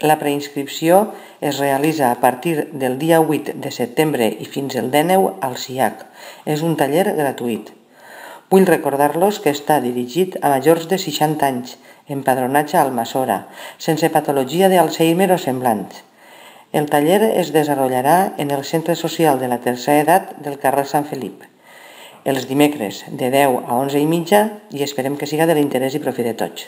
La preinscripció es realitza a partir del dia 8 de setembre i fins el 19 al CIAC. És un taller gratuït. Vull recordar-los que està dirigit a majors de 60 anys, empadronatge a Almassora, sense patologia d'Alzheimer o semblants. El taller es desenvoluparà en el Centre Social de la Tercera Edat del carrer Sant Felip, els dimecres de 10 a 11:30 i esperem que siga de l'interès i profit de tots.